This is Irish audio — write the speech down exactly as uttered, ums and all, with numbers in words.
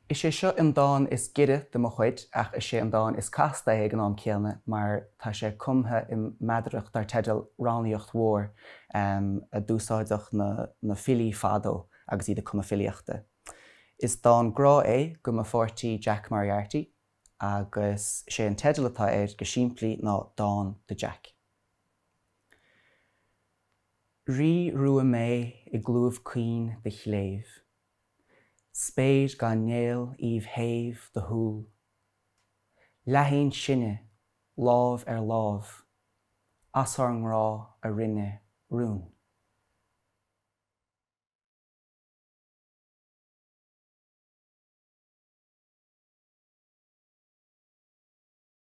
Is é seo an dán is giorra de mo chuid ach is é an dán is casta é ag an am céanna mar tá sé cumtha i meadaracht dar teideal Rannaíocht Mhór um, a d'úsáideadh na, na filí fadó agus iad ag cumadh filíochta. Is dán grá é go mo pháirtí Jack Moriarty agus sé an teideal atá air go simplí ná dán do Jack. Rí rua mé i gclúmh caoin de chléibh. Spéir gan néal aoibh shéimh do shúl. Leathéin sinne, lámh ar lámh, as ár ngrá a rinne rún.